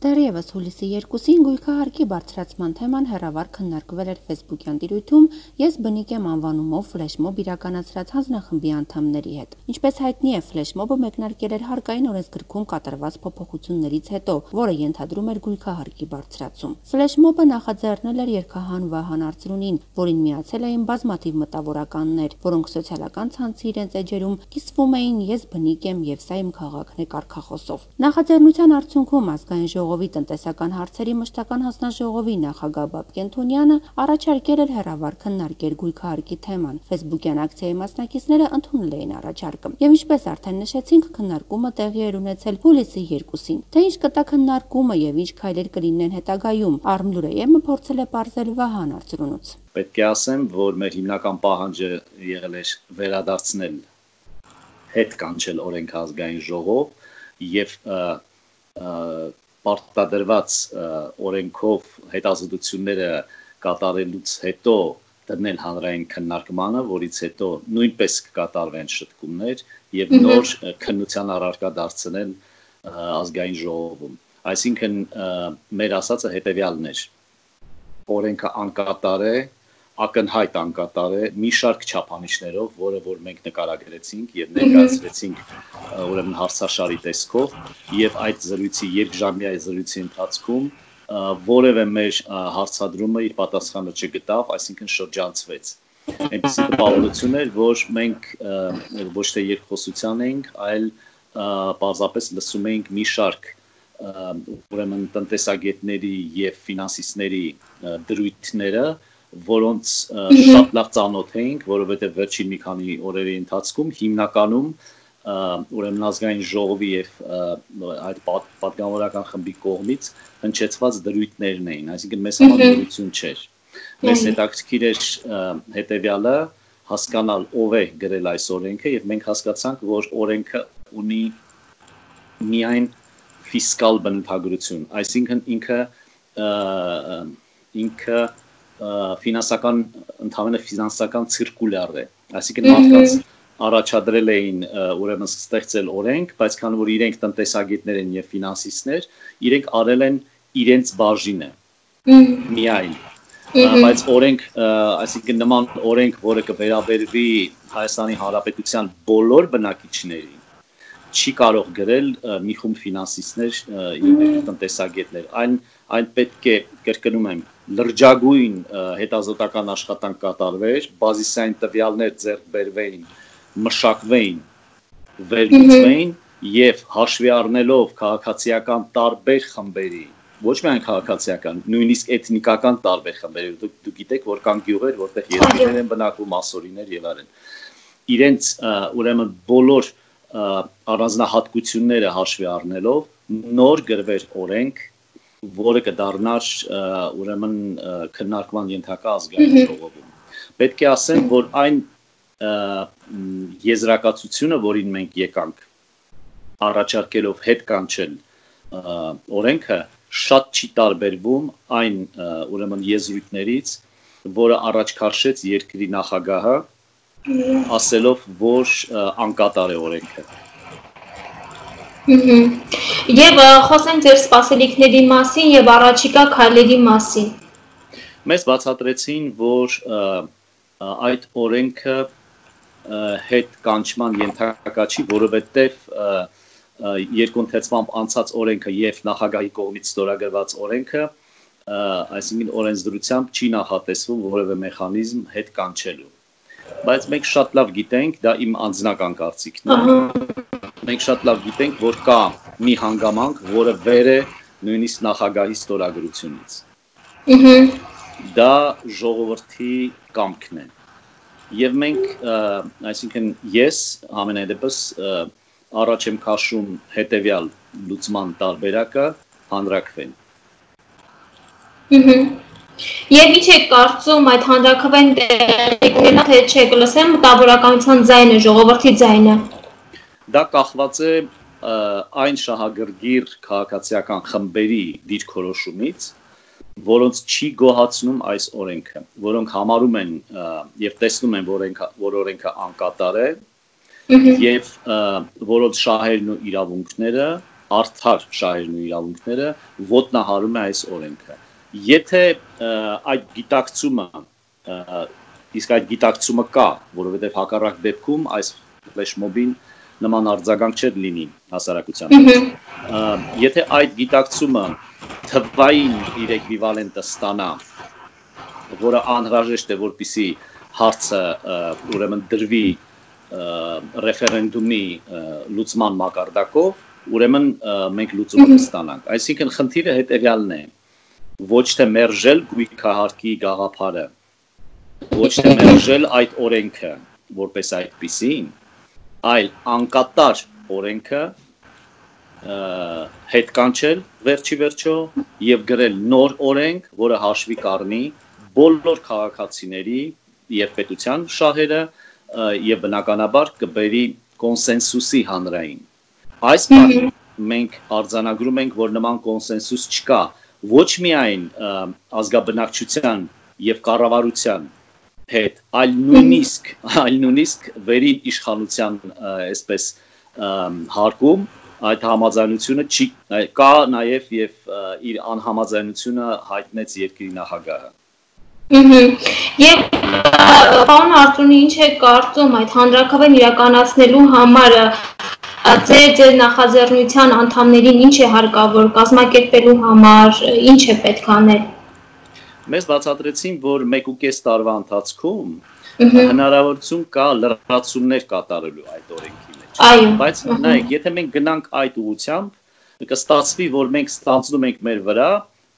Դեռևս հուլիսի 2-ին գույքահարկի բարձրացման թեման հեռավար քննարկվել էր ֆեյսբուքյան տիրույթում «Ես բնիկ եմ» անվանումով ֆլեշմոբ իրականացրած հանձնախմբի անդամների հետ։ Ինչպես հայտնի է, ֆլեշմոբը մեկնարկել էր հարկային օրենսգրքում կատարված փոփոխություններից հետո, որը ենթադրում էր գույքահարկի բարձրացում։ Ֆլեշմոբը նախաձեռնել էր երգահան Վահան Արծրունին, որին միացել էին բազմաթիվ մտավորականներ, որոնք սոցիալական ցանցի իրենց էջերում կիսվում էին «Ես բնիկ եմ» եւ «Սա իմ քաղաքն է» կարգախոսով։ Նախաձեռնության արդյունքում Ազգային ժողովի տնտեսական հարցերի մշտական հանձնաժողովի նախագահ Բաբկեն Թունյանը առաջարկել էր հեռավար քննարկել գույքահարկի թեման։ Ֆեյսբուքյան ակցիայի մասնակիցները ընդունել էին առաջարկը։ Եվ ինչպես արդեն նշեցինք, քննարկումը տեղի էր ունեցել հուլիսի 2-ին։ Թե ինչ կտա քննարկումը եւ ինչ քայլեր կլինեն հետագայում, Արմլուրեյեմը փորձել է պարզել Վահան Արծրունուց։ Պետք է ասեմ, որ մեր հիմնական պահանջը եղել էր վերադարձնել հետ կանչել օրենք ազգային ժողով եւ պարտադրված օրենքով հետազոտությունները կատարելուց հետո դնել հանրային քննարկմանը, որից հետո նույնպես կկատարվեն շտկումներ եւ նոր քննության առարկա դարձնել ազգային ժողովում։ Այսինքն մեր ասածը հետեւյալն էր. օրենքը անկատար է, ակնհայտ անկատար է մի շարք չափանիշներով, որը որ մենք նկարագրեցինք եւ ներկայացրեցինք ուրեմն հարցաշարի տեսքով եւ այդ զրույցի երկժամյա զրույցի ընթացքում որևէ մեր հարցադրումը իր պատասխանը չգտավ, այսինքն շրջանցվեց։ Այնպիսի տպավորություն էր, որ մենք ոչ թե երկխոսության էինք, այլ պարզապես լսում էինք մի շարք ուրեմն տնտեսագետների եւ ֆինանսիստների դրույթները, որոնց շատ լավ ծանոթ էինք, որովհետեւ վերջին մի քանի օրերի ընթացքում հիմնականում ուրեմն ազգային ժողովի եւ այդ պատգամավորական խմբի կողմից հնչեցված դրույթներն էին, այսինքն մեծ համաձայնություն չէր։ Մեզ հետաքրքիր էր հետեւյալը հասկանալ ով է գրել այս օրենքը եւ մենք հասկացանք, որ օրենքը ունի միայն ֆիսկալ բնութագրություն, այսինքն ինքը ֆինանսական ընդհանուր ֆինանսական ցիրկուլյար է, այսինքն մարդկանց առաջադրել էին ուրեմն ստեղծել օրենք, բայց քանի որ իրենք տնտեսագետներ են եւ ֆինանսիստներ, իրենք արել են իրենց բաժինը միայն, բայց օրենք, այսինքն նման օրենք, որը կվերաբերվի Հայաստանի Հանրապետության բոլոր բնակիչներին, չի կարող գրել մի խումբ ֆինանսիստներ եւ տնտեսագետներ, այն պետք է կրկնում եմ լրջագույն հետազոտական աշխատանք կատարվեր, բազիսային տվյալներ ձեռք բերվեին, մշակվեին, վերլուծվեին եւ հաշվի առնելով քաղաքացիական տարբեր խմբերի, ոչ միայն քաղաքացիական, նույնիսկ էթնիկական տարբեր խմբերի, դուք գիտեք, որ կան գյուղեր, որտեղ երեխաներ են բնակվում, մասորիներ եւ այլն, իրենց ուրեմն բոլոր առանձնահատկությունները հաշվի առնելով նոր գրվեր օրենք, որը կդառնար ուրեմն քննարկման ենթակա ազգային ժողովում։ Պետք է ասեմ, որ այն եզրակացությունը, որին մենք եկանք առաջարկելով հետ կանչել օրենքը, շատ չի տարբերվում այն ուրեմն եզրույթներից, որը առաջ քաշեց երկրի նախագահը, ասելով, որ անկատար է օրենքը։ Եվ խոսենք ձեր սպասելիքների մասին եւ առաջիկա քայլերի մասին։ Մեզ բացատրեցին, որ այդ օրենքը հետ կանչման ենթակա չի, որովհետեւ երկընթեցմամբ անցած օրենքը եւ նախագահի կողմից ստորագրված օրենքը, այսինքն օրենսդրությամբ չի նախատեսվում որևէ մեխանիզմ հետ կանչելու։ Բայց մենք շատ լավ գիտենք, դա իմ անձնական կարծիքն է։ Մենք շատ լավ գիտենք, որ կա մի հանգամանք, որը վեր է նույնիսկ նախագահի ստորագրությունից։ Դա ժողովրդի կամքն է։ Եվ մենք, այսինքն ես ամենայն դեպս առաջ եմ քաշում հետեւյալ լուծման տարբերակը հանրաքվեն։ Եվ ինչ եք կարծում այդ հանրաքվեն տեղի թե չէ, կլսեմ մտավորականության ձայնը, ժողովրդի ձայնը։ Դա կախված է այն շահագրգիռ քաղաքացիական խմբերի դիրքորոշումից, որոնց չի գոհացնում այս օրենքը, որոնք համարում են եւ տեսնում են, որ օրենքը անկատար է եւ որոնց շահերն ու իրավունքները արդար շահերն ու իրավունքները ոտնահարում է այս օրենքը։ Եթե այդ գիտակցումը իսկ այդ գիտակցումը կա, որովհետև հակառակ դեպքում այս ֆլեշմոբին նման արձագանք չէր լինի հասարակության։ Եթե այդ գիտակցումը թվային իր էկվիվալենտը ստանա, որը անհրաժեշտ է, որպեսզի հարցը ուրեմն դրվի ռեֆերենդումի լուծման մակարդակով, ուրեմն մենք լուծումը կստանանք։ Այսինքն խնդիրը հետևյալն է. ոչ թե մերժել գույքահարկի գաղափարը, ոչ թե մերժել այդ օրենքը որպես այդպիսին, այլ անկատար օրենքը հետ կանչել վերջի վերջո եւ գրել նոր օրենք, որը հաշվի կառնի բոլոր քաղաքացիների եւ պետության շահերը եւ բնականաբար կբերի կոնսենսուսի հանրային։ Այս բանը մենք արձանագրում ենք, որ նման կոնսենսուս չկա ոչ միայն ազգաբնակչության եւ կառավարության հետ, այլ նույնիսկ վերին իշխանության այսպես հարկում այդ համաձայնությունը չի կա նաեւ եւ իր անհամաձայնությունը հայտնեց երկրի նախագահը։ Եվ պարոն Արծունի, ինչ է կարծում այդ հանրաքվեն իրականացնելու համար ձեր նախաձեռնության անդամներին ինչ է հարկավոր կազմակերպելու համար, ինչ է պետք անել։ Մեզ բացատրեցին, որ 1.5 տարվա ընթացքում հնարավորություն կա լրացումներ կատարելու այդ օրենքի մեջ։ Բայց նայեք, եթե մենք գնանք այդ ուղղությամբ, կստացվի, որ մենք ստանձնում ենք մեր վրա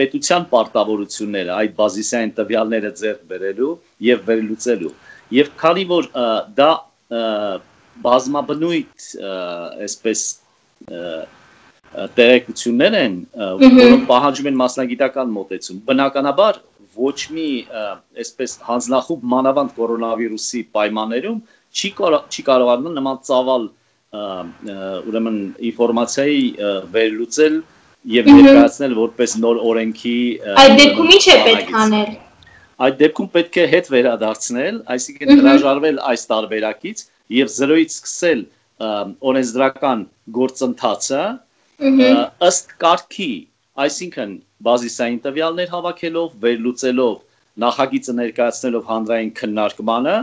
պետության պարտավորությունները, այդ բազիսային տվյալները ձեռք բերելու եւ վերլուծելու։ Եվ քանի որ դա բազմաբնույթ այսպես տեղեկություններ են, որոնք պահանջում են մասնագիտական մոտեցում, բնականաբար ոչ մի այսպես հանձնախումբ մանավանդ կորոնավիրուսի պայմաններում չի կարողանում նման ծավալ ուրեմն ինֆորմացիայի վերլուծել եւ ներկայացնել որպես նոր օրենքի Այդ դեպքում ինչ է պետք անել։ Այդ դեպքում պետք է հետ վերադարձնել, այսինքն հրաժարվել այս տարբերակից եւ 0-ից սկսել օրենսդրական գործընթացը ըստ կարգի, այսինքն բազիսային տվյալներ հավաքելով, վերլուծելով, նախագիծը ներկայացնելով հանրային քննարկմանը,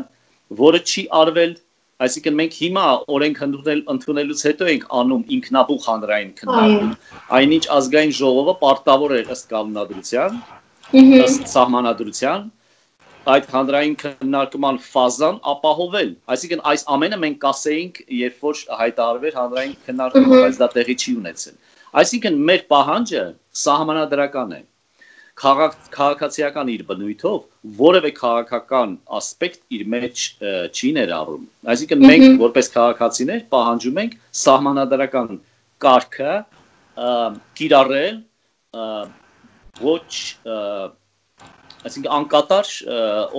որը չի արվել, այսինքն մենք հիմա օրենք ընդունելուց հետո ենք անում ինքնաբուխ հանրային քննարկում, այնինչ ազգային ժողովը պարտավոր էր ըստ կանոնադրության, ըստ սահմանադրության, այդ հանրային քննարկման ֆազան ապահովել, այսինքն այս ամենը մենք կասեինք, երբ որ հայտարարվեր հանրային քննարկումը, բայց դա տեղի չի ունեցել։ Այսինքն մեր պահանջը սահմանադրական է, քաղաքացիական իր բնույթով որևէ քաղաքական ասպեկտ իր մեջ չի ներառում։ Այսինքն մենք որպես քաղաքացիներ պահանջում ենք սահմանադրական կարգը կիրառել ոչ այսինքն անկատար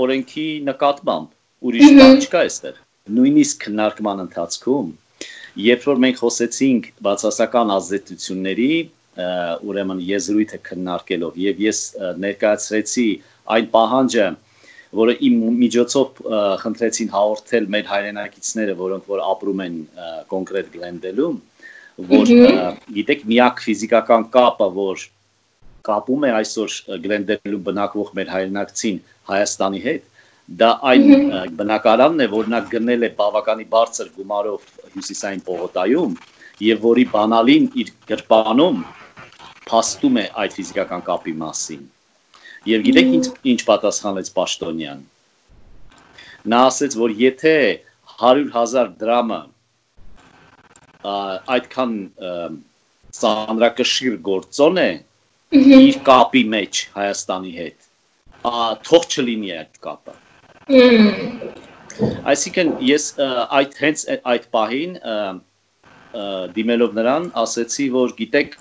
օրենքի նկատմամբ ուրիշ բան չկա այստեղ։ Նույնիսկ քննարկման ընթացքում, երբ որ մենք խոսեցինք բացասական ազդեցությունների, ուրեմն եզրույթը քննարկելով եւ ես ներկայացրեցի այն պահանջը, որը իմ միջոցով խնդրեցին հաղորդել մեր հայրենակիցները, որոնք որ ապրում են կոնկրետ Գլենդելում, որ գիտեք միակ ֆիզիկական կապը, որ կապում է այսօր Գլենդելում բնակվող մեր հայրենակցին Հայաստանի հետ, դա այն բնակարանն է, որ նա գնել է բավականի բարձր գումարով հյուսիսային պողոտայում եւ որի բանալին իր գրպանում փաստում է այդ ֆիզիկական կապի մասին։ Եվ գիտեք ինչ պատասխանեց Պաշտոնյան։ Նա ասաց, որ եթե 100,000 դրամը այդքան ծանրակշիռ գործոն է իր կապի մեջ Հայաստանի հետ, թող չլինի այդ կապը։ Այսինքն ես հենց այդ պահին դիմելով նրան ասեցի, որ գիտեք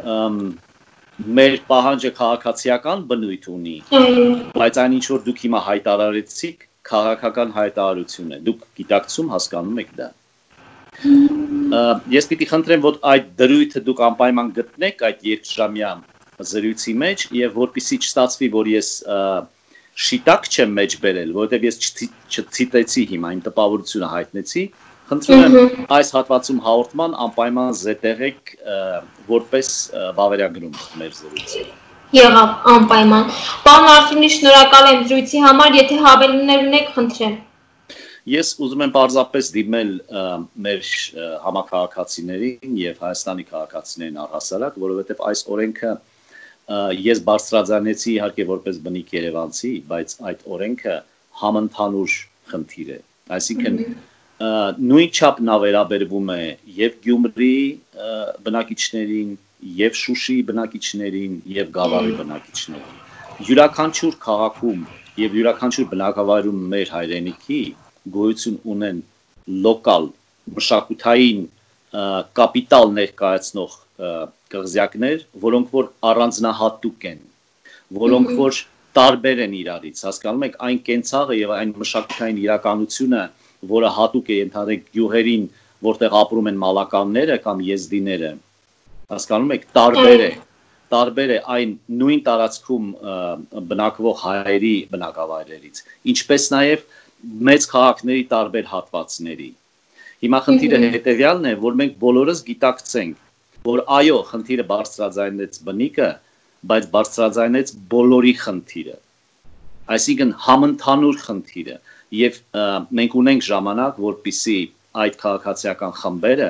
մեր պահանջը քաղաքացիական բնույթ ունի, բայց այն ինչ որ դուք հիմա հայտարարեցիք, քաղաքական հայտարարություն է, դուք գիտակցում հասկանում եք դա։ Ես պիտի խնդրեմ, որ այդ դրույթը դուք անպայման գտնեք այդ երկժամյա զրույցի մեջ եւ որպեսզի չստացվի, որ ես շիտակ չեմ մեջ բերել, որովհետեւ ես չցիտեցի հիմա իմ տպավորությունը հայտնեցի, Խնդրում եմ այս հատվածում հաղորդման անպայման զետեղեք որպես բավարարագրում մեր զրույցը։ Եղավ, անպայման։ Պարոն Արթունի, շնորհակալ եմ զրույցի համար, եթե հավելումներ ունեք, խնդրեմ։ Ես ուզում եմ պարզապես դիմել մեր համաքաղաքացիներին եւ Հայաստանի քաղաքացիներին առհասարակ, որովհետեւ այս օրենքը ես բարձրաձայնեցի իհարկե որպես բնիկ երևանցի, բայց այդ օրենքը համընդհանուր խնդիր է։ Այսինքն նույն չափն ավերաբերվում է եւ Գյումրի բնակիչներին, եւ Շուշի բնակիչներին, եւ Գավառի բնակիչներին։ Յուրաքանչյուր քաղաքում եւ յուրաքանչյուր բնակավայրում մեր հայրենիքի գոյություն ունեն լոկալ մշակութային կապիտալ ներկայացնող կղզյակներ, որոնք որ առանձնահատուկ են, որոնք որ տարբեր են իրարից, հասկանում եք, այն կենցաղը եւ այն մշակութային իրականությունը, որը հատուկ է ընդհանրեք գյուղերին, որտեղ ապրում են մալականները կամ եզդիները, հասկանում եք, տարբեր է այն նույն տարածքում բնակվող հայերի բնակավայրերից, ինչպես նաեւ մեծ քաղաքների տարբեր հատվածների։ Հիմա խնդիրը հետեւյալն է, որ մենք բոլորս գիտակցենք, որ այո, խնդիրը բարձրաձայնեց բնիկը, բայց բարձրաձայնեց բոլորի խնդիրը։ Այսինքն համընդհանուր խնդիրը եւ մենք ունենք ժամանակ, որպիսի այդ քաղաքացիական խմբերը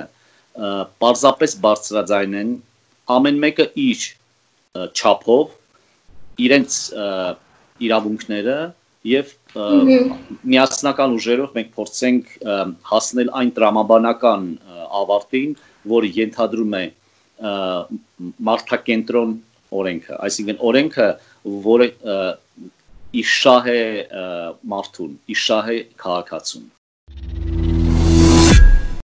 պարզապես բարձրաձայնեն ամեն մեկը իր չափով իրենց իրավունքները եւ միասնական ուժերով մենք փորձենք հասնել այն տրամաբանական ավարտին, որը ենթադրում է մարդակենտրոն օրենքը, այսինքն օրենքը, որը իշահ է մարդուն, իշահ է քաղաքացուն։